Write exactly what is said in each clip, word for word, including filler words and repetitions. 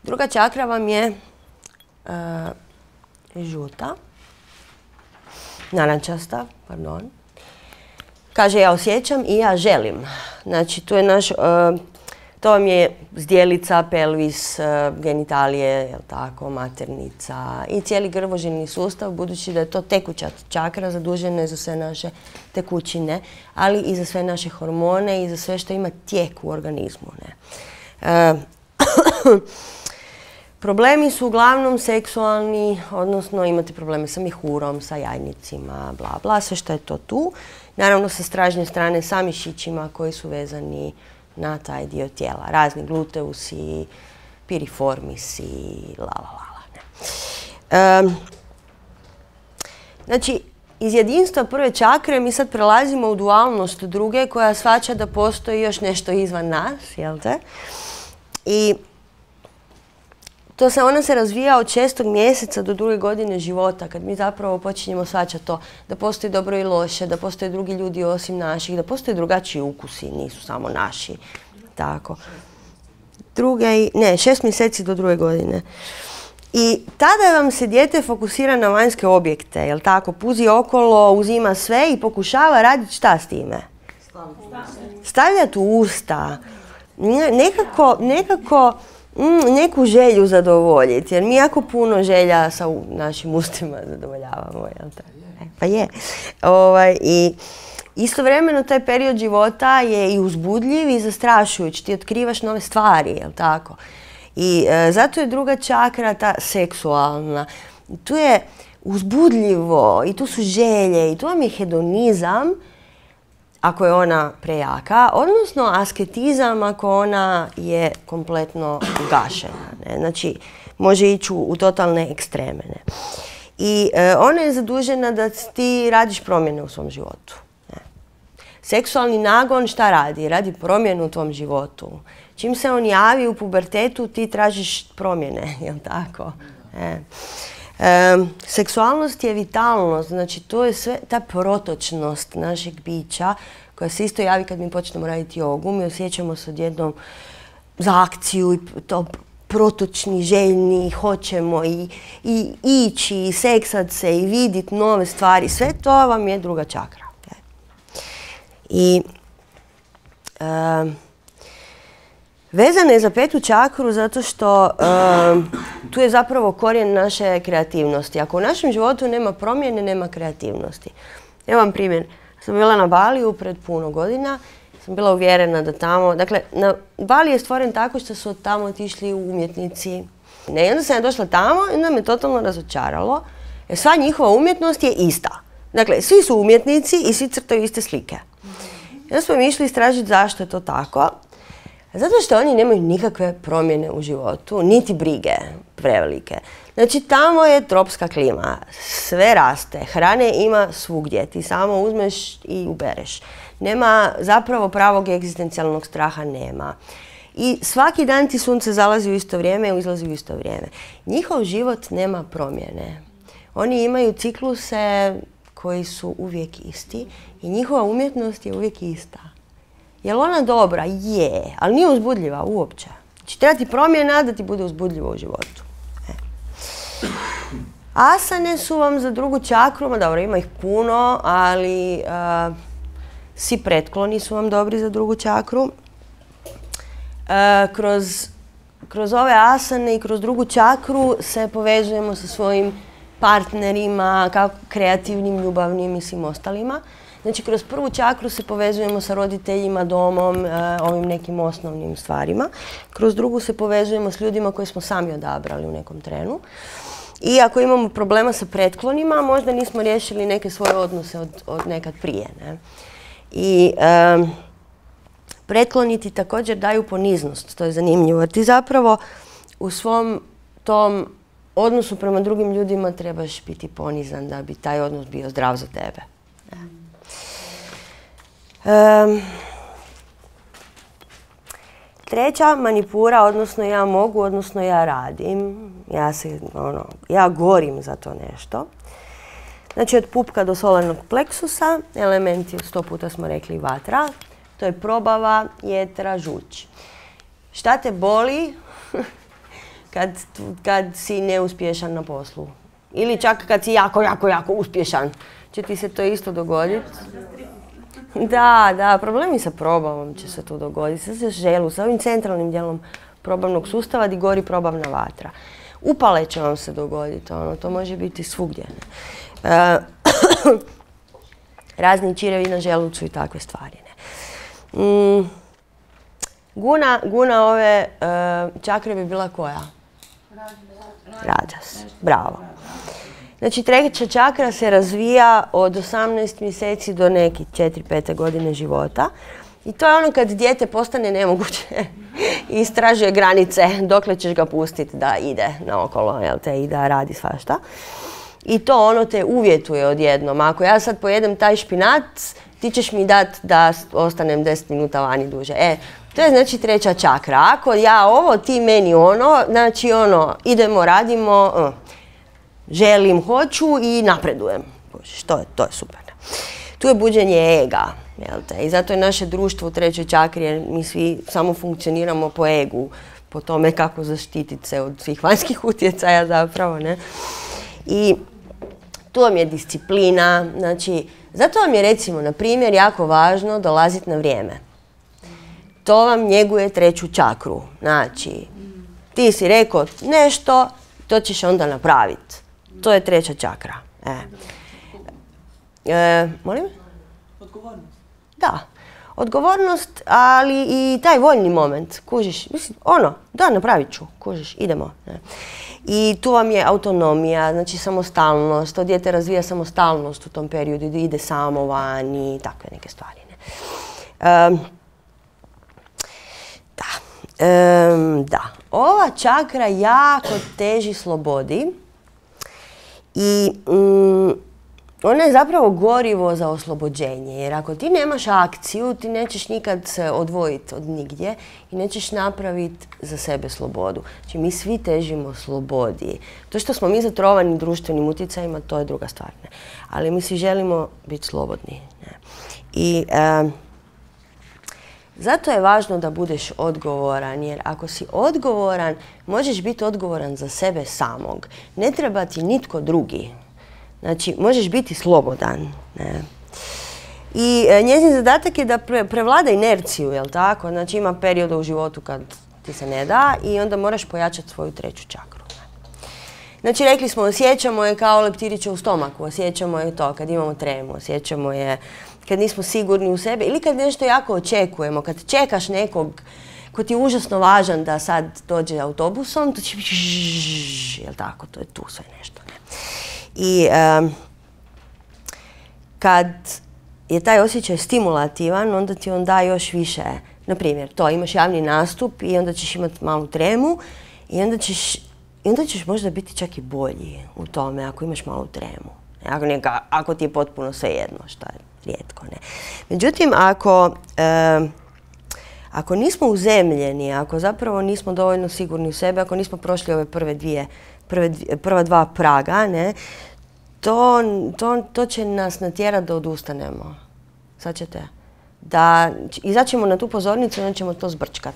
Druga čakra vam je uh, žuta, narančasta, pardon. Kaže ja osjećam i ja želim. Znači tu je naš, uh, to vam je zdjelica, pelvis, uh, genitalije, jel tako, maternica i cijeli grvožilni sustav, budući da je to tekuća čakra, zadužena je za sve naše tekućine, ali i za sve naše hormone i za sve što ima tijek u organizmu. Ne? Uh, Problemi su uglavnom seksualni, odnosno imate probleme sa mihurom, sa jajnicima, bla bla, sve što je to tu. Naravno sa stražnje strane sa mišićima koji su vezani na taj dio tijela. Razni gluteusi, piriformisi, la la la. Ne. Um, znači, iz jedinstva prve čakre mi sad prelazimo u dualnost druge koja shvaća da postoji još nešto izvan nas, jel te? I to se, ona se razvija od šestog mjeseca do druge godine života, kad mi zapravo počinjemo shvaćati to, da postoji dobro i loše, da postoje drugi ljudi osim naših, da postoje drugačiji ukusi, nisu samo naši. Tako. Druge, ne, šest mjeseci do druge godine. I tada vam se dijete fokusira na vanjske objekte, jel tako? Puzi okolo, uzima sve i pokušava raditi šta s time? Stavljati u usta. Nekako, nekako mm, neku želju zadovoljiti, jer mi jako puno želja sa u, našim ustima zadovoljavamo, jel tako? E, pa je. Ovaj, i istovremeno taj period života je i uzbudljiv i zastrašujući. Ti otkrivaš nove stvari, jel tako? I e, zato je druga čakra ta seksualna. Tu je uzbudljivo i tu su želje i tu vam je hedonizam ako je ona prejaka, odnosno asketizam ako ona je kompletno ugašena. Ne? Znači, može ići u, u totalne ekstreme. Ne? I e, ona je zadužena da ti radiš promjene u svom životu. Ne? Seksualni nagon šta radi? Radi promjenu u tvom životu. Čim se on javi u pubertetu, ti tražiš promjene, jel tako? E. E, seksualnost je vitalnost, znači to je sve ta protočnost našeg bića koja se isto javi kad mi počnemo raditi jogu. Mi osjećamo se odjednom za akciju i to protočni, željni, hoćemo i, i ići, i seksat se i vidjeti nove stvari. Sve to vam je druga čakra. Okay? I e, vezana je za petu čakru zato što um, tu je zapravo korijen naše kreativnosti. Ako u našem životu nema promjene, nema kreativnosti. Evo vam primjer. Sam bila na Baliju pred puno godina. Sam bila uvjerena da tamo... Dakle, na Bali je stvoren tako što su od tamo otišli umjetnici. Ne, i onda sam ja došla tamo i onda me totalno razočaralo. Jer sva njihova umjetnost je ista. Dakle, svi su umjetnici i svi crtaju iste slike. I onda smo mi išli istražiti zašto je to tako. Zato što oni nemaju nikakve promjene u životu, niti brige prevelike. Znači, tamo je tropska klima, sve raste, hrane ima svugdje, ti samo uzmeš i ubereš. Nema zapravo pravog egzistencijalnog straha, nema. I svaki dan ti sunce zalazi u isto vrijeme i izlazi u isto vrijeme. Njihov život nema promjene. Oni imaju cikluse koji su uvijek isti i njihova umjetnost je uvijek ista. Je li ona dobra? Je, ali nije uzbudljiva uopće. Znači, treba ti promjena da ti bude uzbudljivo u životu. E. Asane su vam za drugu čakru, ma dobro, ima ih puno, ali uh, svi pretkloni su vam dobri za drugu čakru. Uh, kroz, kroz ove asane i kroz drugu čakru se povezujemo sa svojim partnerima, kako kreativnim, ljubavnim i svim ostalima. Znači, kroz prvu čakru se povezujemo sa roditeljima, domom, ovim nekim osnovnim stvarima. Kroz drugu se povezujemo s ljudima koje smo sami odabrali u nekom trenu. I ako imamo problema sa pretklonima, možda nismo riješili neke svoje odnose od, od nekad prije. Ne? I um, pretkloni ti također daju poniznost, to je zanimljivo. Jer ti zapravo u svom tom odnosu prema drugim ljudima trebaš biti ponizan da bi taj odnos bio zdrav za tebe. Ne? Um, treća, manipura, odnosno ja mogu, odnosno ja radim. Ja, se, ono, ja gorim za to nešto. Znači od pupka do solarnog pleksusa, elementi, sto puta smo rekli vatra, to je probava, jetra, žuč. Šta te boli kad, kad si neuspješan na poslu. Ili čak kad si jako, jako, jako uspješan. Će ti se to isto dogoditi. Da, da, problemi sa probavom će se tu dogoditi. Sa želu, sa ovim centralnim dijelom probavnog sustava gdje gori probavna vatra. Upale će vam se dogoditi, ono, to može biti svugdje. E, razni čirevi na želucu i takve stvari. Ne. Mm, guna, guna ove e, čakre bi bila koja? Rađas. Bravo. Znači, treća čakra se razvija od osamnaest mjeseci do neki četiri pete godine života. I to je ono kad dijete postane nemoguće i istražuje granice dokle ćeš ga pustiti da ide naokolo, jel te, i da radi svašta. I to ono te uvjetuje odjednom. Ako ja sad pojedem taj špinat, ti ćeš mi dati da ostanem deset minuta vani duže. E, to je znači treća čakra. Ako ja ovo, ti meni ono, znači ono, idemo, radimo, uh, želim, hoću i napredujem. To je, to je super. Tu je buđenje ega. Jel te? I zato je naše društvo u trećoj čakri, jer mi svi samo funkcioniramo po egu, po tome kako zaštititi se od svih vanjskih utjecaja zapravo, ne? I tu vam je disciplina, znači, zato vam je recimo, na primjer, jako važno dolaziti na vrijeme. To vam njeguje treću čakru. Znači, ti si rekao nešto, to ćeš onda napraviti. To je treća čakra. E. E, molim? Odgovornost. Da. Odgovornost, ali i taj voljni moment. Kužiš, mislim, ono, da, napravit ću. Kužiš, idemo. Ne. I tu vam je autonomija, znači samostalnost. To dijete razvija samostalnost u tom periodu, ide samo van i takve neke stvari. Ne. Um, da. Um, da. Ova čakra jako teži slobodi i um, ona je zapravo gorivo za oslobođenje, jer ako ti nemaš akciju, ti nećeš nikad se odvojiti od nigdje i nećeš napraviti za sebe slobodu. Znači, mi svi težimo slobodi. To što smo mi zatrovani društvenim utjecajima, to je druga stvar. Ne? Ali mi svi želimo biti slobodni. Ne? I e, zato je važno da budeš odgovoran, jer ako si odgovoran, možeš biti odgovoran za sebe samog. Ne treba ti nitko drugi. Znači, možeš biti slobodan. Ne? I e, njezin zadatak je da pre, prevlada inerciju, jel tako? Znači, ima perioda u životu kad ti se ne da i onda moraš pojačati svoju treću čakru. Ne? Znači, rekli smo, osjećamo je kao leptiriće u stomaku, osjećamo je to kad imamo tremu, osjećamo je kad nismo sigurni u sebe ili kad nešto jako očekujemo, kad čekaš nekog ko ti je užasno važan da sad dođe autobusom, to će biti jel tako, to je tu sve nešto. Ne? I um, kad je taj osjećaj stimulativan, onda ti on da još više. Na primjer, to, imaš javni nastup i onda ćeš imati malu tremu i onda ćeš, i onda ćeš možda biti čak i bolji u tome ako imaš malu tremu. Ako, neka, ako ti je potpuno svejedno, što je rijetko. Ne? Međutim, ako, um, ako nismo uzemljeni, ako zapravo nismo dovoljno sigurni u sebe, ako nismo prošli ove prve dvije Prve, prva dva praga, ne, to, to, to će nas natjerati da odustanemo. Sad ćete. Da izaćemo na tu pozornicu i onda ćemo to zbrčkat.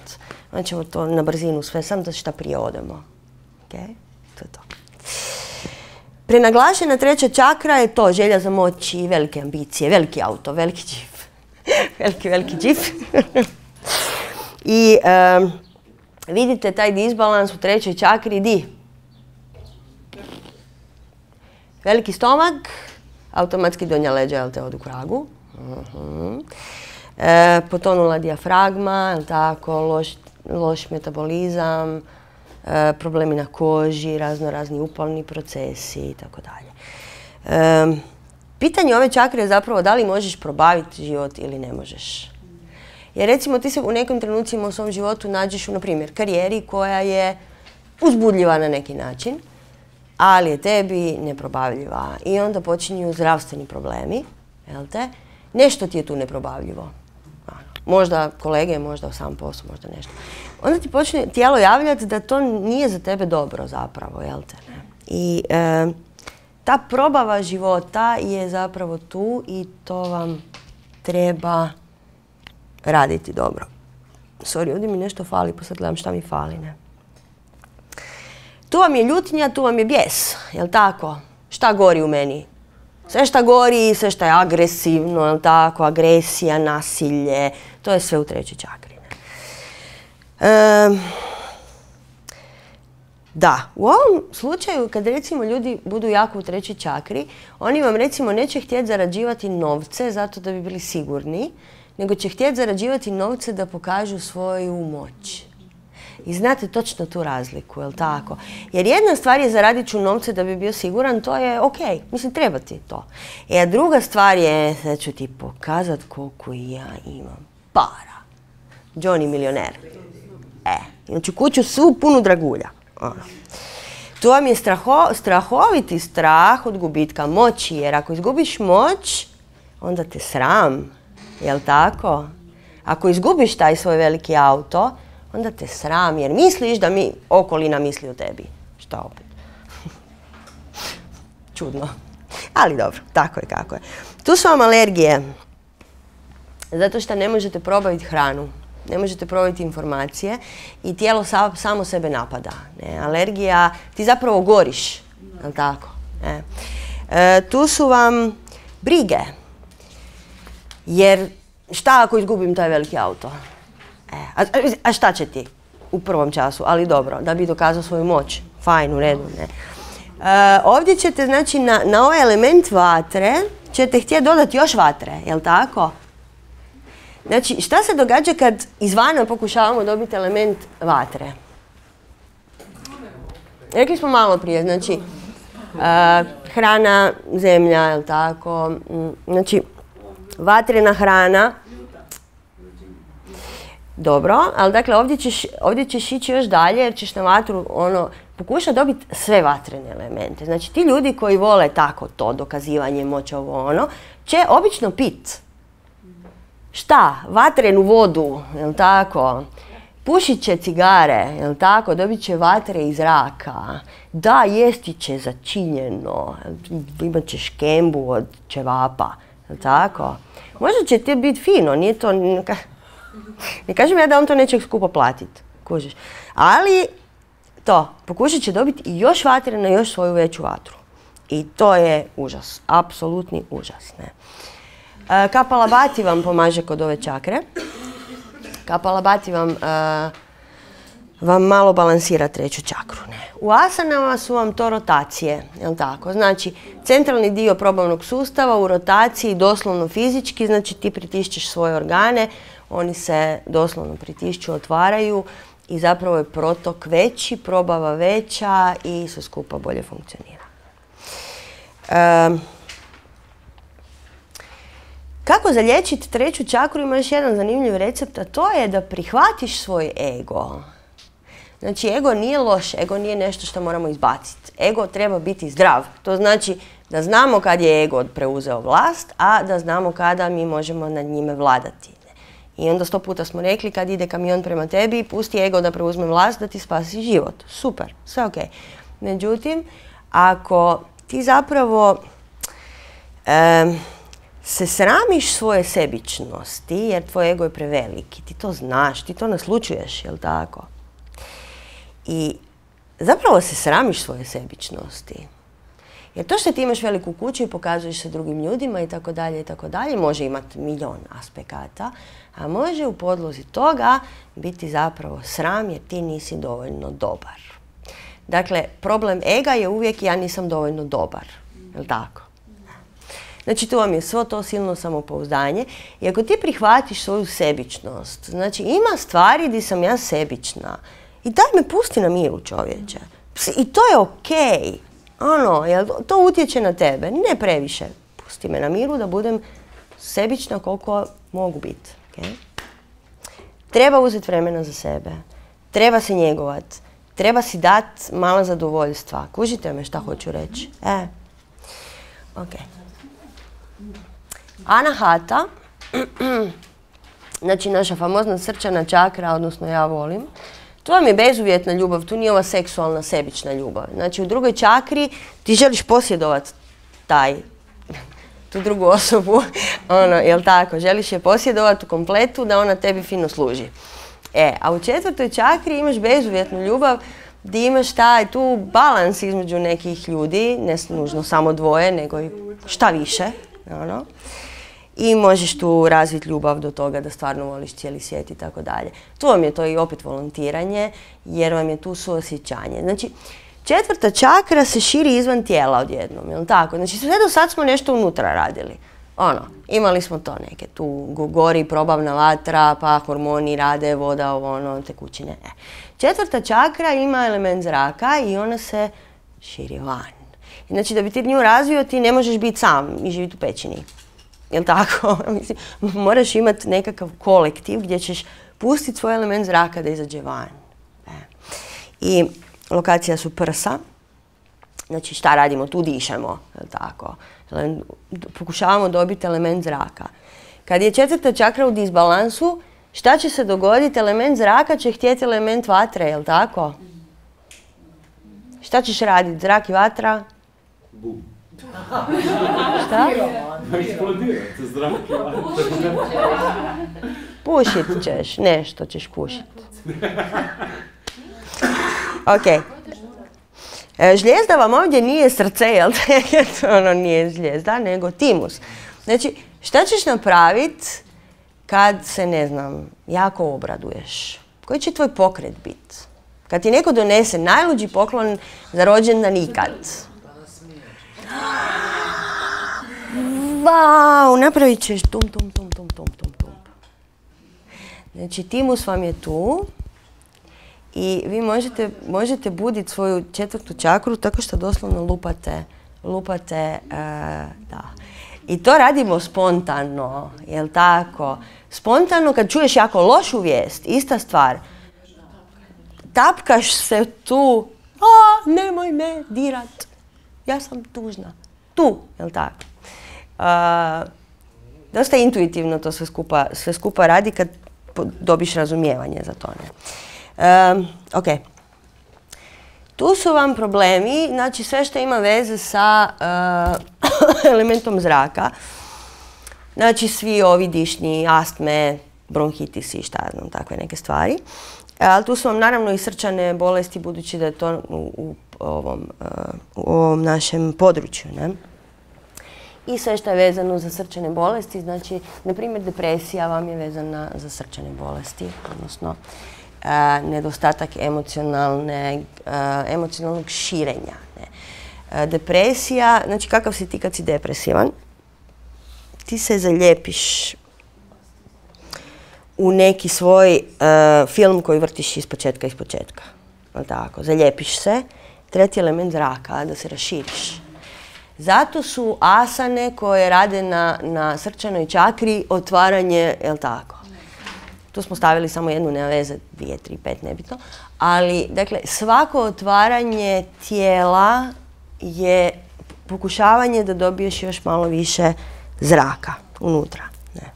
Onda ćemo to na brzinu sve, sam da šta prije odemo. Okay? To je to. Prenaglašena treća čakra je to, želja za moć i velike ambicije, veliki auto, veliki džip. veliki, veliki džip. I um, vidite taj disbalans u trećoj čakri, di? Veliki stomak, automatski donja leđa, jel te, odu k vragu. Uh-huh. e, potonula dijafragma, jel tako, loš, loš metabolizam, e, problemi na koži, razno razni upalni procesi i tako dalje. E, pitanje ove čakre je zapravo da li možeš probaviti život ili ne možeš. Jer recimo ti se u nekim trenucima u svom životu nađeš u, na primjer, karijeri koja je uzbudljiva na neki način, ali je tebi neprobavljiva i onda počinju zdravstveni problemi, jel te? Nešto ti je tu neprobavljivo. Možda kolege, možda sam posao, možda nešto. Onda ti počne tijelo javljati da to nije za tebe dobro zapravo, jel te? I e, ta probava života je zapravo tu i to vam treba raditi dobro. Sorry, ovdje mi nešto fali, pa sad gledam šta mi fali, ne? Tu vam je ljutnja, tu vam je bijes, jel tako? Šta gori u meni? Sve šta gori, sve šta je agresivno, jel tako? Agresija, nasilje, to je sve u trećoj čakri. E, da, u ovom slučaju kad recimo ljudi budu jako u trećoj čakri, oni vam recimo neće htjeti zarađivati novce zato da bi bili sigurni, nego će htjeti zarađivati novce da pokažu svoju moć. I znate točno tu razliku, jel tako? Jer jedna stvar je zaradit ću novce da bi bio siguran, to je ok, mislim treba ti to. E, a druga stvar je da ću ti pokazat koliko ja imam para. Johnny milioner. E, znači kuću svu punu dragulja. Ono. Tu vam je straho, strahoviti strah od gubitka moći, jer ako izgubiš moć, onda te sram, jel tako? Ako izgubiš taj svoj veliki auto, onda te sram, jer misliš da mi okolina misli o tebi. Šta opet? Čudno. Ali dobro, tako je kako je. Tu su vam alergije. Zato što ne možete probaviti hranu. Ne možete probaviti informacije i tijelo sa, samo sebe napada. Ne? Alergija, ti zapravo goriš. Jel tako? Ne? E, tu su vam brige. Jer šta ako izgubim taj veliki auto? E, a, a šta će ti u prvom času? Ali dobro, da bi dokazao svoju moć. Fajn, u redu. Ne? E, ovdje ćete, znači, na, na ovaj element vatre ćete htjeti dodati još vatre, jel tako? Znači, šta se događa kad izvana pokušavamo dobiti element vatre? Rekli smo malo prije, znači, uh, hrana, zemlja, jel tako? Znači, vatrena hrana. Dobro, ali dakle ovdje ćeš, ovdje ćeš ići još dalje jer ćeš na vatru ono, pokušati dobiti sve vatrene elemente. Znači, ti ljudi koji vole tako to, dokazivanje, moć, ovo ono, će obično pit. Šta? Vatrenu vodu, jel tako? Pušit će cigare, jel tako? Dobit će vatre iz zraka. Da, jesti će začinjeno. Imat će škembu od ćevapa, jel tako? Možda će ti biti fino, nije to... Ne kažem ja da on to neće skupo platiti, kužiš. Ali to, pokušat će dobiti i još vatre na još svoju veću vatru. I to je užas, apsolutni užas, ne? Kapalabhati vam pomaže kod ove čakre. Kapalabhati vam, uh, vam malo balansira treću čakru. Ne? U asanama su vam to rotacije, jel tako? Znači, centralni dio probavnog sustava u rotaciji doslovno fizički, znači ti pritišćeš svoje organe, oni se doslovno pritišću, otvaraju i zapravo je protok veći, probava veća i sve skupa bolje funkcionira. Um, Kako zaliječiti treću čakru? Ima još jedan zanimljiv recept, a to je da prihvatiš svoj ego. Znači, ego nije loš, ego nije nešto što moramo izbaciti. Ego treba biti zdrav. To znači da znamo kad je ego preuzeo vlast, a da znamo kada mi možemo nad njime vladati. I onda sto puta smo rekli, kad ide kamion prema tebi, pusti ego da preuzme vlast, da ti spasi život. Super, sve ok. Međutim, ako ti zapravo... Um, se sramiš svoje sebičnosti, jer tvoj ego je preveliki, ti to znaš, ti to naslučuješ, jel tako? I zapravo se sramiš svoje sebičnosti. Jer to što ti imaš veliku kuću i pokazuješ se drugim ljudima i tako dalje i tako dalje, može imati milion aspekata, a može u podlozi toga biti zapravo sram jer ti nisi dovoljno dobar. Dakle, problem ega je uvijek ja nisam dovoljno dobar, jel tako? Znači, tu vam je svo to silno samopouzdanje i ako ti prihvatiš svoju sebičnost, znači ima stvari gdje sam ja sebična i daj me pusti na miru, čovječe. I to je okej. Ono, jel to utječe na tebe? Ne previše. Pusti me na miru da budem sebična koliko mogu biti. Okay? Treba uzeti vremena za sebe. Treba se njegovat. Treba si dati mala zadovoljstva. Kužite me šta hoću reći? E, okej. Anahata, znači naša famozna srčana čakra, odnosno ja volim, tu vam je bezuvjetna ljubav, tu nije ova seksualna sebična ljubav. Znači u drugoj čakri ti želiš posjedovati taj, tu drugu osobu, ono, jel tako, želiš je posjedovati u kompletu da ona tebi fino služi. E, a u četvrtoj čakri imaš bezuvjetnu ljubav gdje imaš taj tu balans između nekih ljudi, ne nužno samo dvoje, nego i šta više. Ono. I možeš tu razviti ljubav do toga da stvarno voliš cijeli svijet i tako dalje. Tu vam je to i opet volontiranje, jer vam je tu suosjećanje. Znači, četvrta čakra se širi izvan tijela odjednom, jel tako? Znači, sve do sad smo nešto unutra radili. Ono, imali smo to neke, tu gori probavna vatra, pa hormoni rade, voda, ovo, ono, tekućine. E. Četvrta čakra ima element zraka i ona se širi van. Znači, da bi ti nju razvio, ti ne možeš biti sam i živjeti u pećini. Jel' tako? Mislim, moraš imati nekakav kolektiv gdje ćeš pustiti svoj element zraka da izađe van. E. I lokacija su prsa. Znači, šta radimo? Tu dišemo. Jel' tako? Pokušavamo dobiti element zraka. Kad je četvrta čakra u disbalansu, šta će se dogoditi? Element zraka će htjeti element vatre, jel' tako? Šta ćeš raditi? Zrak i vatra? Bum. Šta? Eksplodirate zrak i vatra. Pušit ćeš, nešto ćeš pušit. Ok. Žlijezda vam ovdje nije srce, jel? Ono nije žlijezda, nego timus. Znači, šta ćeš napraviti kad se, ne znam, jako obraduješ? Koji će tvoj pokret biti? Kad ti neko donese najluđi poklon za rođendan ikad. Vau, napravit ćeš tum, tum, tum, tum, tum, tum, tum. Znači, timus vam je tu i vi možete, možete buditi svoju četvrtu čakru tako što doslovno lupate, lupate, uh, da. I to radimo spontano, jel' tako? Spontano kad čuješ jako lošu vijest, ista stvar. Tapkaš se tu, a nemoj me dirat, ja sam tužna. Tu, jel' tako? Uh, dosta intuitivno to sve skupa, sve skupa radi kad dobiš razumijevanje za to. Ne? Um, ok. Tu su vam problemi, znači sve što ima veze sa uh, elementom zraka. Znači svi ovi dišni, astme, bronhitisi, šta znam, takve neke stvari. Ali tu su vam naravno i srčane bolesti, budući da je to u, u, ovom, uh, u ovom našem području. Ne? I sve što je vezano za srčane bolesti, znači, na primjer, depresija vam je vezana za srčane bolesti, odnosno uh, nedostatak emocionalne, uh, emocionalnog širenja. Ne? Uh, depresija, znači kakav si ti kad si depresivan? Ti se zaljepiš u neki svoj uh, film koji vrtiš iz početka iz početka. Tako, zaljepiš se, treći element zraka, da se raširiš. Zato su asane koje rade na, na srčanoj čakri otvaranje, jel tako? Tu smo stavili samo jednu, nema veze, dvije, tri, pet, nebitno. Ali, dakle, svako otvaranje tijela je pokušavanje da dobiješ još malo više zraka unutra. Ne.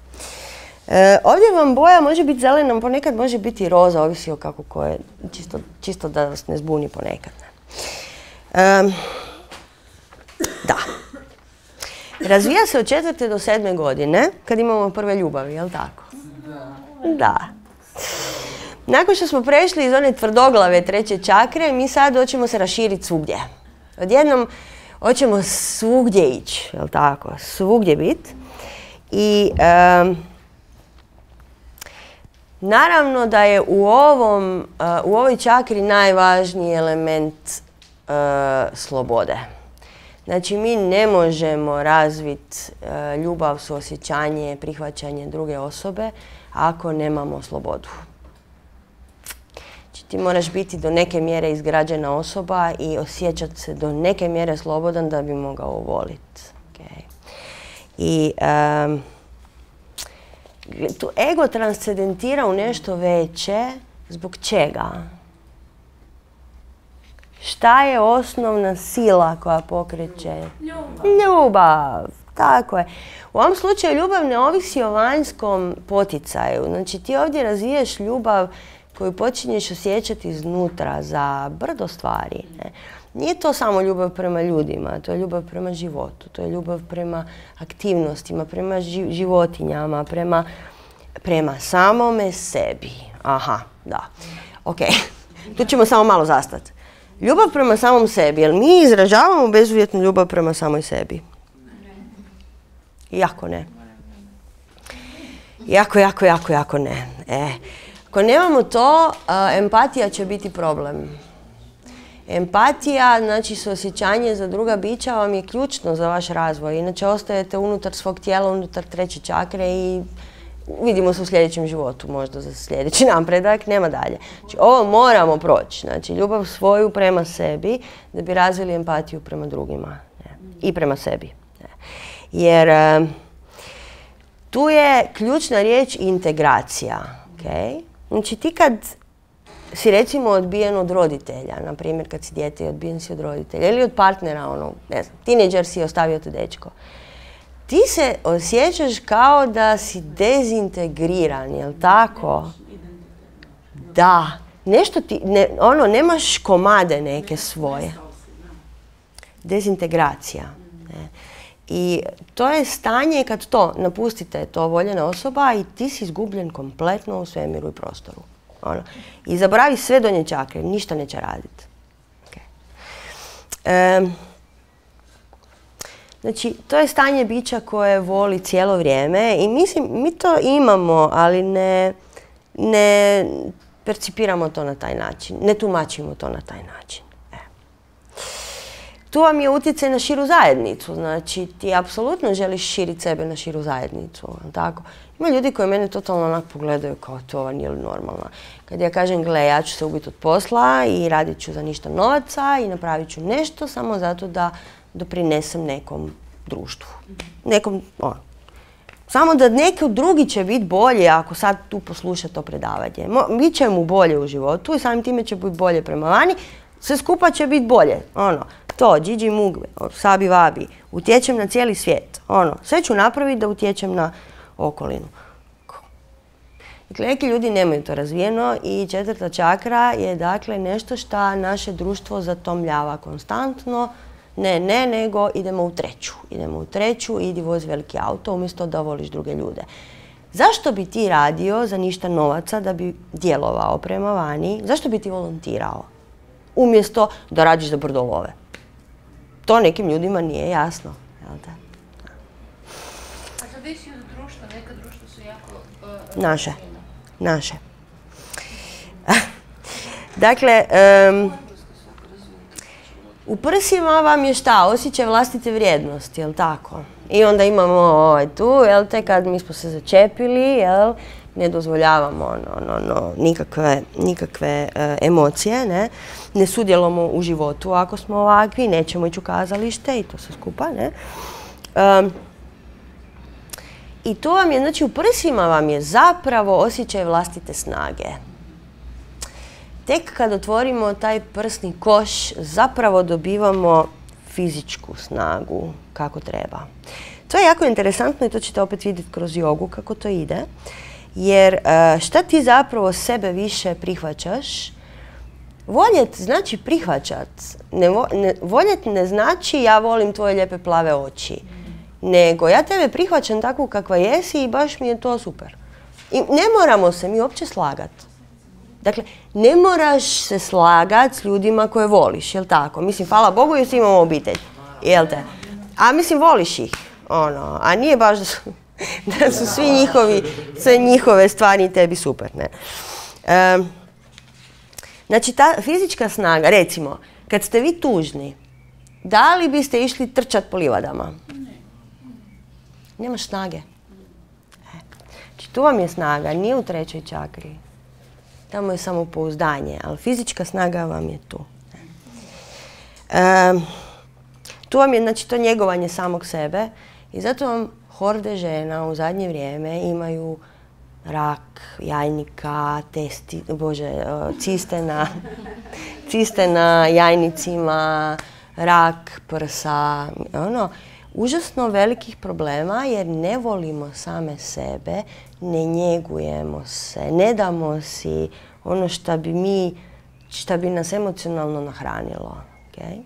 E, ovdje vam boja može biti zelena, ponekad može biti roza, ovisi o kako koje, čisto, čisto da vas ne zbuni ponekad. Ne. E, Da. Razvija se od četvrte do sedme godine, kad imamo prve ljubavi, jel' tako? Da. Da. Nakon što smo prešli iz one tvrdoglave treće čakre, mi sad hoćemo se raširiti svugdje. Odjednom hoćemo svugdje ići, jel' tako? Svugdje biti. I um, naravno da je u, ovom, uh, u ovoj čakri najvažniji element uh, slobode. Znači, mi ne možemo razviti uh, ljubav, suosjećanje, prihvaćanje druge osobe ako nemamo slobodu. Znači, ti moraš biti do neke mjere izgrađena osoba i osjećati se do neke mjere slobodan da bi mogao voliti. Okay. I um, tu ego transcendentira u nešto veće. Zbog čega? Šta je osnovna sila koja pokreće? Ljubav. Ljubav, tako je. U ovom slučaju ljubav ne ovisi o vanjskom poticaju. Znači ti ovdje razviješ ljubav koju počinješ osjećati iznutra za brdo stvari. Ne? Nije to samo ljubav prema ljudima, to je ljubav prema životu, to je ljubav prema aktivnostima, prema životinjama, prema, prema samome sebi. Aha, da. Ok, tu ćemo samo malo zastati. Ljubav prema samom sebi, jer mi izražavamo bezuvjetnu ljubav prema samoj sebi. Jako ne. Jako, jako, jako, jako ne. E. Ako nemamo to, a, empatija će biti problem. Empatija, znači suosjećanje za druga bića vam je ključno za vaš razvoj. Inače ostajete unutar svog tijela, unutar treće čakre i vidimo se u sljedećem životu, možda za sljedeći napredak, nema dalje. Znači, ovo moramo proći. Znači, ljubav svoju prema sebi da bi razvili empatiju prema drugima. Ne? I prema sebi. Ne? Jer um, tu je ključna riječ integracija. Okay? Znači, ti kad si recimo odbijen od roditelja, na primjer kad si dijete i odbijen si od roditelja, ili od partnera, ono, ne znam, tineđer si ostavio te dečko. Ti se osjećaš kao da si dezintegriran, jel tako? Da. Nešto ti, ne, ono, nemaš komade neke svoje. Dezintegracija. Ne. I to je stanje kad to, napustite to voljena osoba i ti si izgubljen kompletno u svemiru i prostoru. Ono. I zaboravi sve donje čakre, ništa neće raditi. Okay. Um, Znači, to je stanje bića koje voli cijelo vrijeme i mislim, mi to imamo, ali ne, ne percipiramo to na taj način, ne tumačimo to na taj način. E. Tu vam je utjecaj na širu zajednicu, znači ti apsolutno želiš širiti sebe na širu zajednicu, tako? Ima ljudi koji mene totalno onak pogledaju kao to, ova nije li normalna. Kad ja kažem, gle, ja ću se ubiti od posla i radit ću za ništa novaca i napravit ću nešto samo zato da doprinesem nekom društvu. Nekom, ono. Samo da neko drugi će biti bolje ako sad tu posluša to predavanje. Bit će mu bolje u životu i samim time će biti bolje prema vani. Sve skupa će biti bolje. Ono, to, džiđi mugve, sabi vabi. Utječem na cijeli svijet. Ono, sve ću napraviti da utječem na okolinu. Dakle, neki ljudi nemaju to razvijeno i četvrta čakra je dakle nešto što naše društvo zatomljava konstantno. Ne, ne, nego idemo u treću. Idemo u treću, idi vozi veliki auto umjesto da voliš druge ljude. Zašto bi ti radio za ništa novaca da bi djelovao prema vani? Zašto bi ti volontirao? Umjesto da radiš za brdo love. To nekim ljudima nije jasno. Jel te? A zavisi od društva, neka društva su jako... Uh, Naše. Naše. Dakle, um, u prsima vam je šta? Osjećaj vlastite vrijednosti, jel tako? I onda imamo ovaj tu, jel te, kad mi smo se začepili, jel, ne dozvoljavamo no, no, no, nikakve, nikakve uh, emocije, ne? Ne sudjelujemo u životu ako smo ovakvi, nećemo ići u kazalište i to sve skupa, ne? Um, I to vam je, znači u prsima vam je zapravo osjećaj vlastite snage. Tek kad otvorimo taj prsni koš, zapravo dobivamo fizičku snagu kako treba. To je jako interesantno i to ćete opet vidjeti kroz jogu kako to ide. Jer šta ti zapravo sebe više prihvaćaš? Voljet znači prihvaćat. Ne, ne, voljet ne znači ja volim tvoje lijepe plave oči. Nego ja tebe prihvaćam takvu kakva jesi i baš mi je to super. I ne moramo se mi uopće slagati. Dakle, ne moraš se slagati s ljudima koje voliš, jel tako? Mislim, hvala Bogu jer svi imamo obitelj, jel te? A mislim, voliš ih, ono, a nije baš da su, da su svi njihovi, sve njihove stvari tebi super, ne? Um, znači, ta fizička snaga, recimo, kad ste vi tužni, da li biste išli trčati po livadama? Nemaš snage. E. Znači, tu vam je snaga, nije u trećoj čakri. Tamo je samopouzdanje, ali fizička snaga vam je tu. E, tu vam je, znači, to njegovanje samog sebe i zato vam horde žena u zadnje vrijeme imaju rak jajnika, testi, bože, ciste na, ciste na jajnicima, rak prsa, ono, užasno velikih problema jer ne volimo same sebe, ne njegujemo se, ne damo si ono što bi mi, što bi nas emocionalno nahranilo. Okay?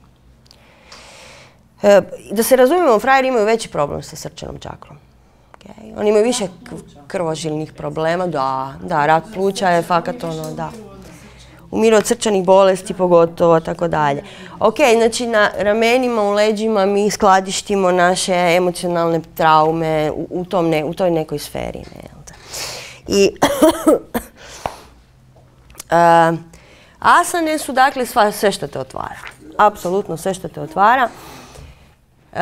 E, da se razumijemo, frajeri imaju veći problem sa srčanom čakrom. Okay? Oni imaju više krvožilnih problema, da, da, rak pluća je fakat ono, da. umiru od srčanih bolesti pogotovo, tako dalje. Ok, znači na ramenima, u leđima mi skladištimo naše emocionalne traume u, u, tom ne, u toj nekoj sferi. Ne, jel da? I uh, asane su dakle sva, sve što te otvara. Apsolutno sve što te otvara. Uh,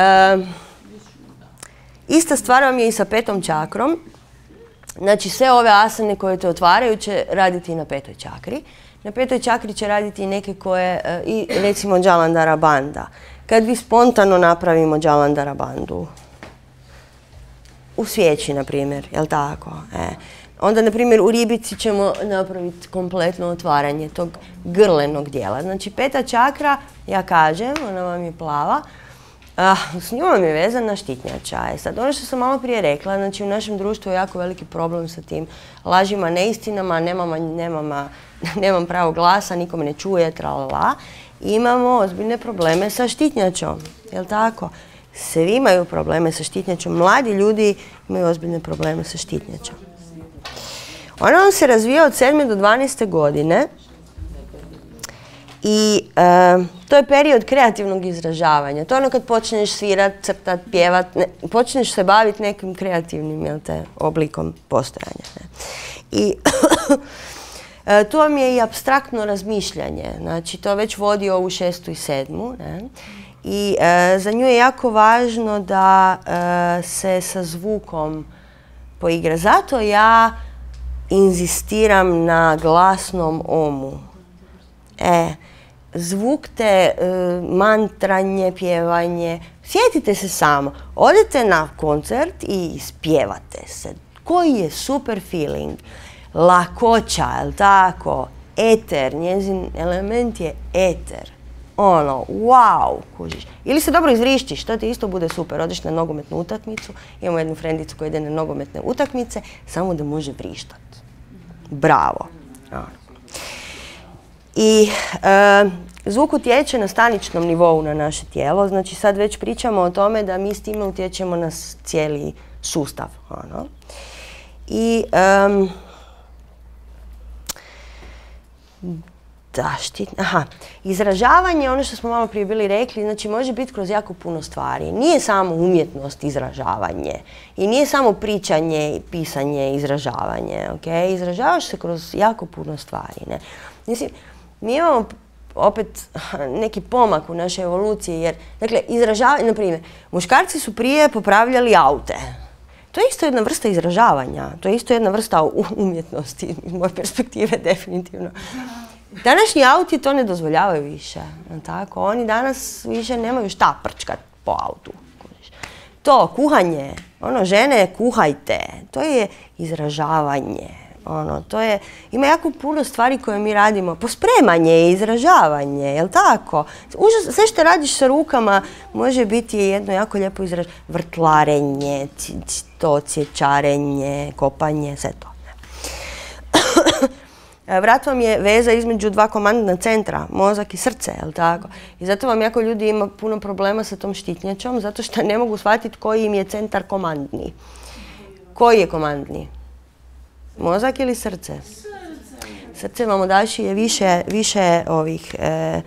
ista stvar vam je i sa petom čakrom. Znači sve ove asane koje te otvaraju će raditi i na petoj čakri. Na petoj čakri će raditi i neke koje, uh, i recimo Jalandhara bandha. Kad vi spontano napravimo Jalandhara bandhu, u svijeći, na primjer, jel tako? E. Onda, na primjer, u ribici ćemo napraviti kompletno otvaranje tog grlenog dijela. Znači, peta čakra, ja kažem, ona vam je plava, a, s njom je vezana štitnjača. E sad, ono što sam malo prije rekla, znači u našem društvu je jako veliki problem sa tim lažima, neistinama, nemama, nemama, nemam pravo glasa, nikome ne čuje, tralala. Imamo ozbiljne probleme sa štitnjačom, jel tako? Svi imaju probleme sa štitnjačom, mladi ljudi imaju ozbiljne probleme sa štitnjačom. Ona vam se razvija od sedme do dvanaeste godine i e, to je period kreativnog izražavanja. To je ono kad počneš svirat, crtat, pjevat, ne, počneš se baviti nekim kreativnim, jel te, oblikom postojanja. Ne. I e, tu vam je i apstraktno razmišljanje. Znači, to već vodi ovu šestu i sedmu. Ne. I e, za nju je jako važno da e, se sa zvukom poigra. Zato ja inzistiram na glasnom omu. E, zvuk te, e, mantranje, pjevanje. Sjetite se samo, odete na koncert i ispjevate se. Koji je super feeling. Lakoća, jel tako? Eter, njezin element je eter. Ono, wow, kužiš. Ili se dobro izrištiš, to ti isto bude super. Odeš na nogometnu utakmicu, imamo jednu frendicu koja ide na nogometne utakmice, samo da može vrištat. Bravo. I e, zvuk utječe na staničnom nivou na naše tijelo, znači sad već pričamo o tome da mi s time utječemo na cijeli sustav. Ono. I um, da, štit, aha, izražavanje, ono što smo malo prije bili rekli, znači može biti kroz jako puno stvari. Nije samo umjetnost izražavanje i nije samo pričanje, pisanje, izražavanje. Okay? Izražavaš se kroz jako puno stvari. Ne? Mislim, mi imamo opet neki pomak u našoj evoluciji, jer, dakle, izražavanje, na primjer, muškarci su prije popravljali aute. To je isto jedna vrsta izražavanja, to je isto jedna vrsta umjetnosti, iz moje perspektive, definitivno. Današnji auti to ne dozvoljavaju više, tako? Oni danas više nemaju šta prčkat po autu. To, kuhanje, ono, žene, kuhajte, to je izražavanje. Ono, to je, ima jako puno stvari koje mi radimo. Pospremanje je izražavanje, jel tako? Užas, sve što radiš sa rukama može biti jedno jako lijepo izražavanje. Vrtlarenje, to, cječarenje, kopanje, sve to. Vrat vam je veza između dva komandna centra, mozak i srce, jel tako? I zato vam jako ljudi ima puno problema sa tom štitnjačom, zato što ne mogu shvatiti koji im je centar komandni. Koji je komandni? Mozak ili srce? Srce vam odaši je više, više ovih e,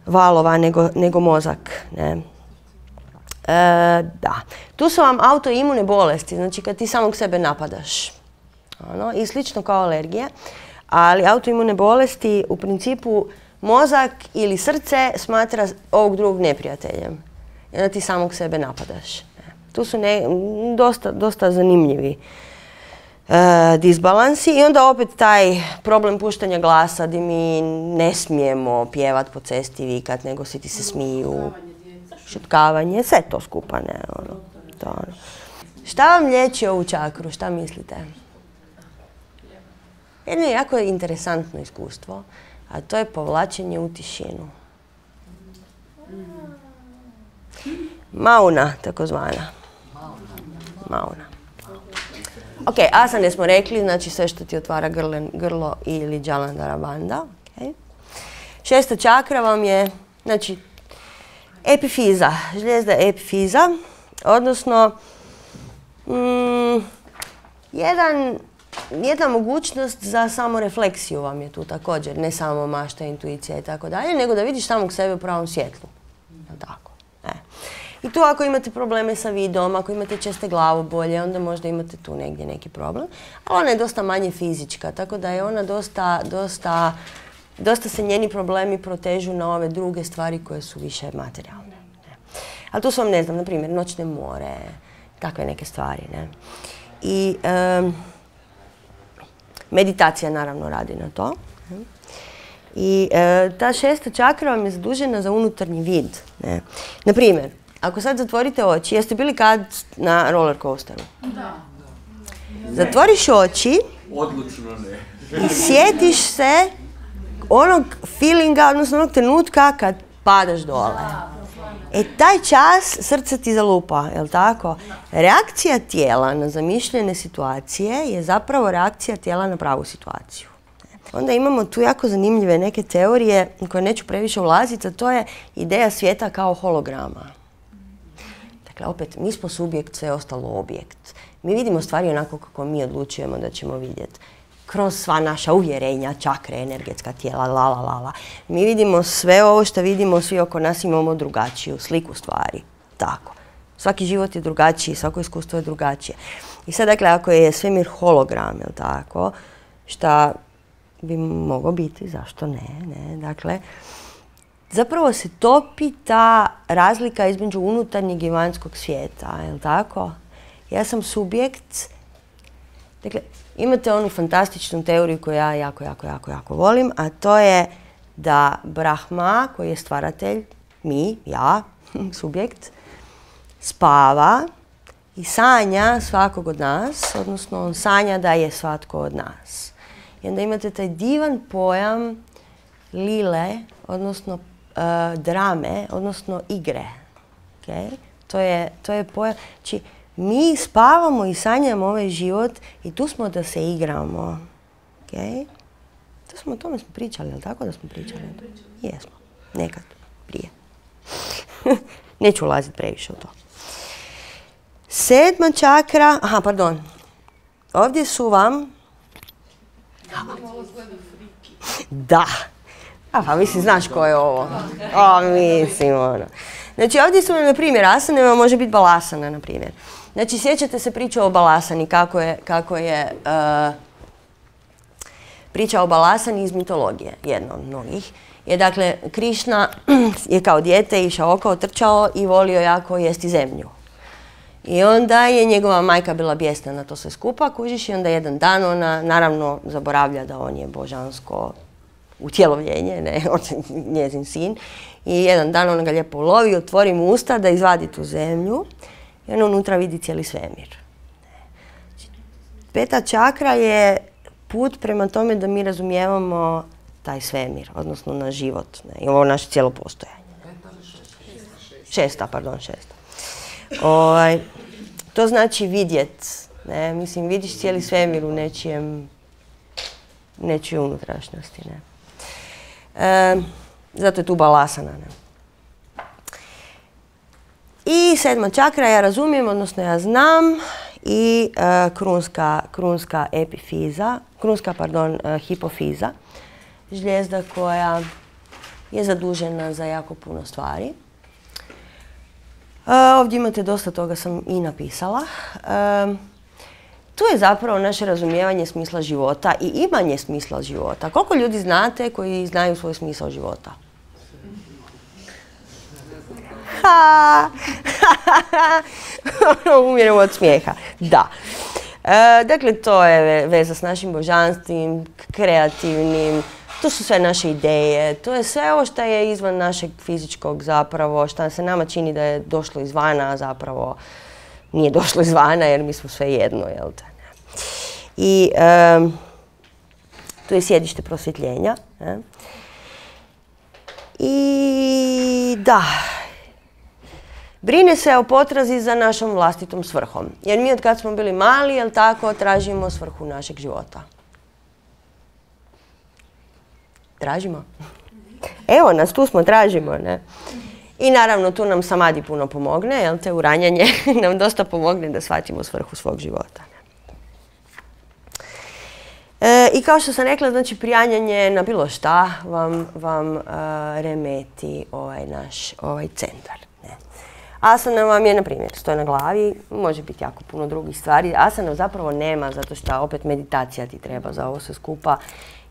valova nego, nego mozak. Ne? E, da. Tu su vam autoimune bolesti, znači kad ti samog sebe napadaš. Ono, i slično kao alergije, ali autoimune bolesti u principu mozak ili srce smatra ovog drugog neprijateljem. I onda ti samog sebe napadaš. Tu su ne, dosta, dosta zanimljivi e, disbalansi i onda opet taj problem puštanja glasa gdje mi ne smijemo pjevat po cesti, vikat, nego svi ti se smiju, šutkavanje, sve to skupa. Ne, ono, to, ono. Šta vam liječi ovu čakru, šta mislite? Jedno je jako interesantno iskustvo, a to je povlačenje u tišinu. Mauna, takozvana. Mauna. Ok, asane smo rekli, znači sve što ti otvara grlen, grlo ili Jalandhara bandha. Okay. Šesta čakra vam je, znači, epifiza, žlijezda epifiza, odnosno mm, jedan jedna mogućnost za samorefleksiju vam je tu također, ne samo mašta, intuicija i tako dalje, nego da vidiš samog sebe u pravom svjetlu. Tako. E. I tu ako imate probleme sa vidom, ako imate česte glavobolje, onda možda imate tu negdje neki problem. Ali ona je dosta manje fizička, tako da je ona dosta, dosta, dosta se njeni problemi protežu na ove druge stvari koje su više materijalne. Ne. Ali tu su vam, ne znam, na primjer, noćne more, takve neke stvari. Ne. I um, meditacija naravno radi na to. Ne. I e, ta šesta čakra vam je zadužena za unutarnji vid. Ne. Na primjer, ako sad zatvorite oči, jeste bili kad na roller coasteru? Da. Zatvoriš oči Odlučno ne. i sjetiš se onog feelinga, odnosno onog trenutka kad padaš dole. E taj čas srce ti zalupa, jel tako? Reakcija tijela na zamišljene situacije je zapravo reakcija tijela na pravu situaciju. Onda imamo tu jako zanimljive neke teorije koje neću previše ulaziti, a to je ideja svijeta kao holograma. Dakle, opet, mi smo subjekt, sve ostalo objekt. Mi vidimo stvari onako kako mi odlučujemo da ćemo vidjeti. Kroz sva naša uvjerenja, čakre, energetska tijela, la, la, la, la. Mi vidimo sve ovo što vidimo, svi oko nas imamo drugačiju sliku stvari. Tako. Svaki život je drugačiji, svako iskustvo je drugačije. I sad, dakle, ako je svemir hologram, jel tako, šta bi moglo biti, zašto ne, ne, dakle, zapravo se topi ta razlika između unutarnjeg i vanjskog svijeta, jel tako? Ja sam subjekt, dakle, imate onu fantastičnu teoriju koju ja jako, jako, jako, jako volim, a to je da Brahma, koji je stvaratelj, mi, ja, subjekt, spava i sanja svakog od nas, odnosno on sanja da je svatko od nas. I onda imate taj divan pojam lile, odnosno uh, drame, odnosno igre. Okay? To je, to je pojam. Znači, mi spavamo i sanjamo ovaj život i tu smo da se igramo. Okay? To smo, o tome smo pričali, jel tako da smo pričali? Jesmo. Nekad. Prije. Neću ulaziti previše u to. Sedma čakra, aha, pardon. Ovdje su vam da. A pa mislim, znaš ko je ovo? O, mislim, ono. Znači, ovdje su, na primjer, asanama može biti balasana, na primjer. Znači, sjećate se priče o balasani, kako je, kako je uh, priča o balasani iz mitologije, jedna od mnogih. Je, dakle, Krišna je kao dijete išao okolo, trčao i volio jako jesti zemlju. I onda je njegova majka bila bijesna na to sve skupa, kužiš, i onda jedan dan ona naravno zaboravlja da on je božansko utjelovljenje, ne, on je njezin sin. I jedan dan ona ga lijepo ulovi, otvori mu usta da izvadi tu zemlju i on unutra vidi cijeli svemir. Peta čakra je put prema tome da mi razumijevamo taj svemir, odnosno naš život, ne, i ovo naše cijelo postojanje. Šesta, pardon, šesta. Ovaj, to znači vidjet, ne, mislim, vidiš cijeli svemir u nečijem, nečijoj unutrašnjosti, ne. E, zato je tu balasana, ne. I sedma čakra ja razumijem, odnosno ja znam, i e, krunska, krunska epifiza, krunska, pardon, e, hipofiza, žlijezda koja je zadužena za jako puno stvari. Uh, ovdje imate dosta toga sam i napisala. Uh, tu je zapravo naše razumijevanje smisla života i imanje smisla života. Koliko ljudi znate koji znaju svoj smisao života? Ha! Umiram od smijeha. Da. Uh, dakle, to je veza s našim božanstvim, kreativnim. To su sve naše ideje, to je sve ovo što je izvan našeg fizičkog zapravo, što se nama čini da je došlo izvana, a zapravo nije došlo izvana jer mi smo sve jedno, jel te? I um, tu je sjedište prosvjetljenja. Ne? I da, brine se o potrazi za našom vlastitom svrhom. Jer mi od kad smo bili mali, jel tako, tražimo svrhu našeg života. Tražimo. Evo nas, tu smo, tražimo, ne? I naravno tu nam samadi puno pomogne, jel te, uranjanje nam dosta pomogne da shvatimo svrhu svog života. Ne? E, I kao što sam rekla, znači prijanjanje na bilo šta vam, vam uh, remeti ovaj naš ovaj centar. Ne. Asana vam je, na primjer, stoje na glavi, može biti jako puno drugih stvari. Asana zapravo nema, zato što opet meditacija ti treba za ovo sve skupa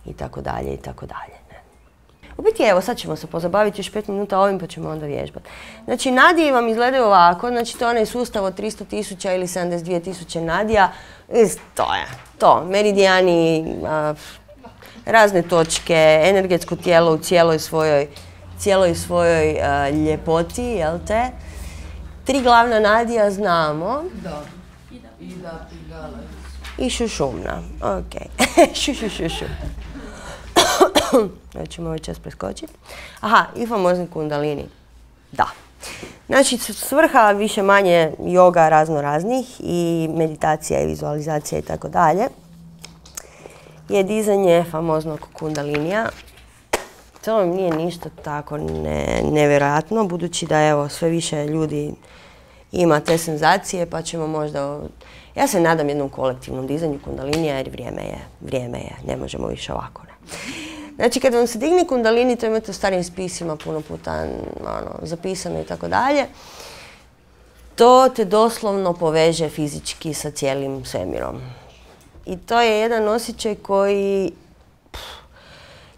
i tako dalje i tako dalje. U biti, evo, sad ćemo se pozabaviti još pet minuta ovim, pa ćemo onda vježbati. Znači, nadije vam izgledaju ovako, znači to je onaj sustav od tristo tisuća ili sedamdeset dvije tisuće nadija. To je to, meridijani, a, razne točke, energetsko tijelo u cijeloj svojoj, cijeloj svojoj a, ljepoti, jel te? Tri glavna nadija znamo. Da. Ida, Pingala. I šušumna, ok. šu, šu, šu, šu. Ćemo ovaj čas preskočiti. Aha, i famozni kundalini. Da. Znači, svrha više manje joga razno raznih i meditacija i vizualizacija i tako dalje je dizanje famoznog kundalinija. To nije ništa tako ne, nevjerojatno, budući da evo sve više ljudi ima te senzacije, pa ćemo možda... Ja se nadam jednom kolektivnom dizanju kundalinija jer vrijeme je, vrijeme je, ne možemo više ovako. Ne. Znači, kad vam se digne kundalini, to imate u starim spisima puno puta ono, zapisano i tako dalje, to te doslovno poveže fizički sa cijelim svemirom. I to je jedan osjećaj koji pff,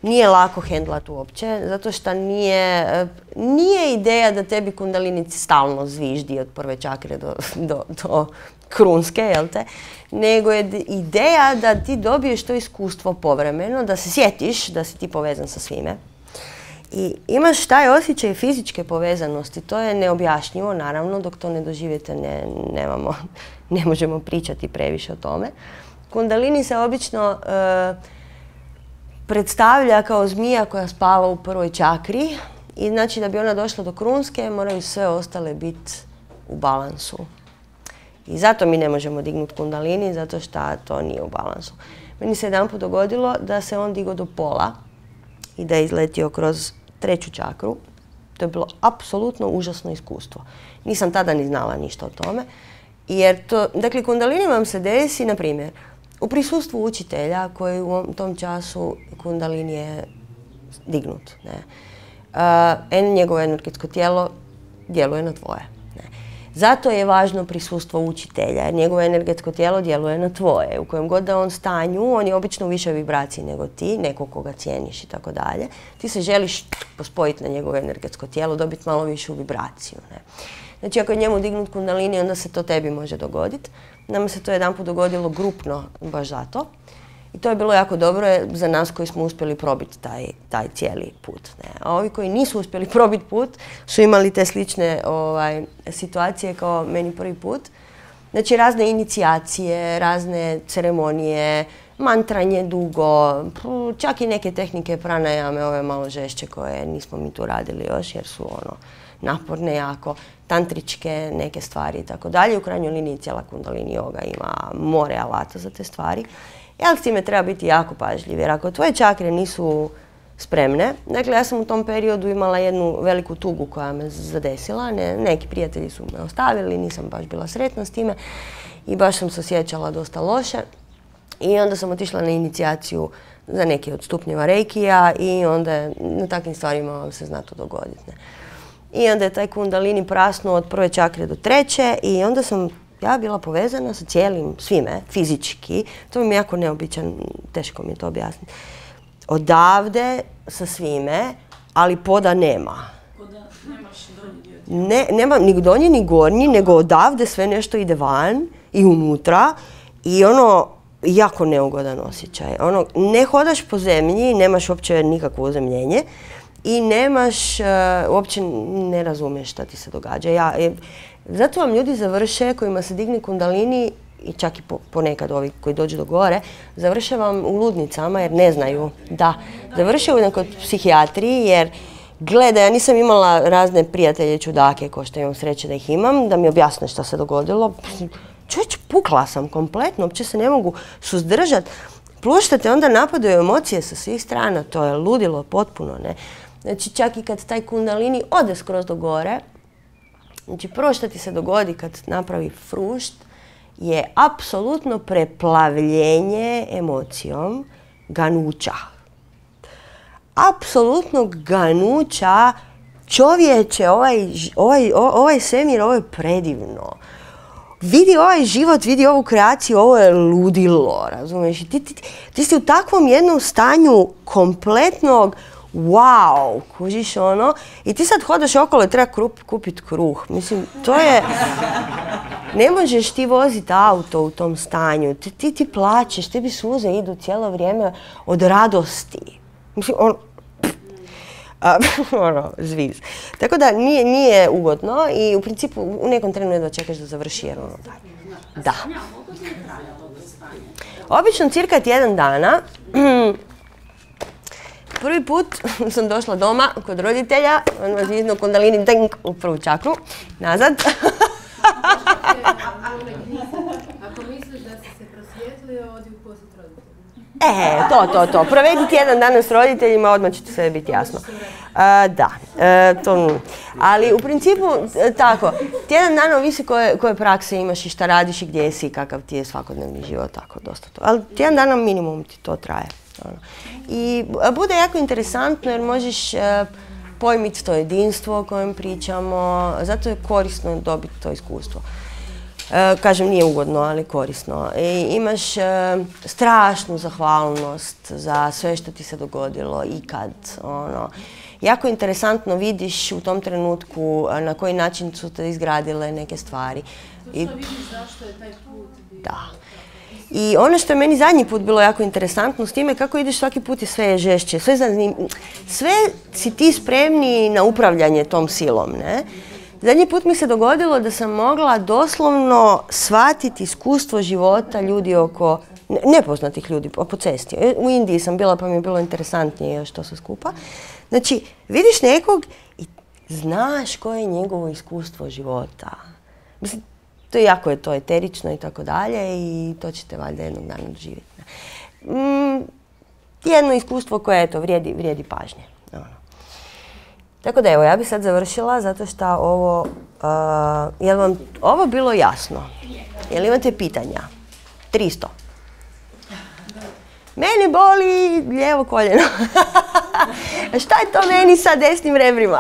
nije lako hendlat uopće, zato što nije, nije ideja da tebi kundalini stalno zviždi od prve čakre do, do, do krunske, jel te? Nego je ideja da ti dobiješ to iskustvo povremeno, da se sjetiš da si ti povezan sa svime. I imaš taj osjećaj fizičke povezanosti, to je neobjašnjivo, naravno, dok to ne doživite ne, nemamo, ne možemo pričati previše o tome. Kundalini se obično e, predstavlja kao zmija koja spava u prvoj čakri i znači da bi ona došla do krunske moraju sve ostale biti u balansu. I zato mi ne možemo dignuti kundalini, zato što to nije u balansu. Meni se jedanput dogodilo da se on digao do pola i da je izletio kroz treću čakru. To je bilo apsolutno užasno iskustvo. Nisam tada ni znala ništa o tome. Jer to, dakle, kundalini vam se desi, na primjer, u prisustvu učitelja koji u tom času kundalini je dignut. Ne. Uh, njegovo energetsko tijelo djeluje na tvoje. Zato je važno prisustvo učitelja, jer njegovo energetsko tijelo djeluje na tvoje. U kojem god da on stanju, on je obično u višoj vibraciji nego ti, neko koga cijeniš i tako dalje. Ti se želiš pospojiti na njegovo energetsko tijelo, dobiti malo višu vibraciju. Ne? Znači, ako je njemu dignut kundalini, onda se to tebi može dogoditi. Nama se to jedanput dogodilo grupno baš zato. I to je bilo jako dobro za nas koji smo uspjeli probiti taj, taj cijeli put. Ne? A ovi koji nisu uspjeli probiti put su imali te slične ovaj, situacije kao meni prvi put. Znači razne inicijacije, razne ceremonije, mantranje dugo, čak i neke tehnike pranajame, ove malo žešće koje nismo mi tu radili još jer su ono naporne jako, tantričke neke stvari i tako dalje. U krajnjoj liniji cijela kundalini joga ima more alata za te stvari. Ali s time treba biti jako pažljiv, jer ako tvoje čakre nisu spremne, dakle ja sam u tom periodu imala jednu veliku tugu koja me zadesila, ne, neki prijatelji su me ostavili, nisam baš bila sretna s time i baš sam se osjećala dosta loše i onda sam otišla na inicijaciju za neki od stupnjeva reikija i onda na takvim stvarima vam se zna to dogoditi. Ne. I onda je taj kundalini prasnuo od prve čakre do treće i onda sam ja bila povezana sa cijelim svime, fizički. To mi je jako neobičan, teško mi je to objasniti. Odavde sa svime, ali poda nema. Poda nemaš donji dio. Ne, nema ni donji ni gornji, nego odavde sve nešto ide van i unutra i ono jako neugodan osjećaj. Ono, ne hodaš po zemlji, nemaš uopće nikakvo uzemljenje i nemaš, uh, uopće ne razumiješ šta ti se događa. Ja, je, zato vam ljudi završe, kojima se digne kundalini, i čak i po, ponekad ovi koji dođu do gore, završe vam u ludnicama jer ne znaju. Da, završe kod psihijatriji jer gleda, ja nisam imala razne prijatelje čudake, ko što imam sreće da ih imam, da mi objasne šta se dogodilo. Čovječ, pukla sam kompletno, uopće se ne mogu suzdržati. Plus što te onda napadaju emocije sa svih strana, to je ludilo potpuno, ne. Znači čak i kad taj kundalini ode skroz do gore, znači prvo što ti se dogodi kad napravi frušt je apsolutno preplavljenje emocijom ganuća. Apsolutnog ganuća. Čovječe, ovaj, ovaj, ovaj svemir, ovo je predivno. Vidi ovaj život, vidi ovu kreaciju, ovo je ludilo, razumiješ? Ti, ti, ti si u takvom jednom stanju kompletnog wow, kužiš ono, i ti sad hodaš okolo i treba kupiti kruh. Mislim, to je... Ne možeš ti voziti auto u tom stanju, ti, ti, ti plačeš, tebi suze idu cijelo vrijeme od radosti. Mislim, on... ono, zviz. Tako da nije, nije ugodno i u principu u nekom trenu jedva čekaš da završi jer ono da. Da. Obično cirka tjedan dana. Prvi put sam došla doma kod roditelja, on vas izno kundalini ding u prvu čakru, nazad. Ako misliš da si se prosvjetlio, odi u posjet roditeljima. E, to, to, to. Provedi tjedan dana s roditeljima, odmah će ti sve biti jasno. A, da, e, to... Ali u principu, tako, tjedan dana ovisi koje, koje prakse imaš i šta radiš i gdje si i kakav ti je svakodnevni život, tako, dosta to. Ali tjedan dana minimum ti to traje. Ono. I bude jako interesantno jer možeš e, pojmiti to jedinstvo o kojem pričamo, zato je korisno dobiti to iskustvo. E, kažem, nije ugodno, ali korisno. I imaš e, strašnu zahvalnost za sve što ti se dogodilo ikad. Ono. Jako interesantno vidiš u tom trenutku na koji način su te izgradile neke stvari. I... vidiš zašto je taj put bio. Da. I ono što je meni zadnji put bilo jako interesantno s time kako ideš svaki put i sve je žešće, sve, zanim... sve si ti spremni na upravljanje tom silom, ne? Zadnji put mi se dogodilo da sam mogla doslovno shvatiti iskustvo života ljudi oko, nepoznatih ljudi po cesti. U Indiji sam bila pa mi je bilo interesantnije još to sve skupa. Znači, vidiš nekog i znaš koje je njegovo iskustvo života. Mislim, to je jako je to eterično i tako dalje i to ćete valjda jednog dana doživjeti. Mm, jedno iskustvo koje eto, vrijedi, vrijedi pažnje. Ono. Tako da evo, ja bih sad završila zato što ovo, uh, je li vam ovo bilo jasno? Je li imate pitanja? tristo. Meni boli lijevo koljeno. Šta je to meni sa desnim rebrima?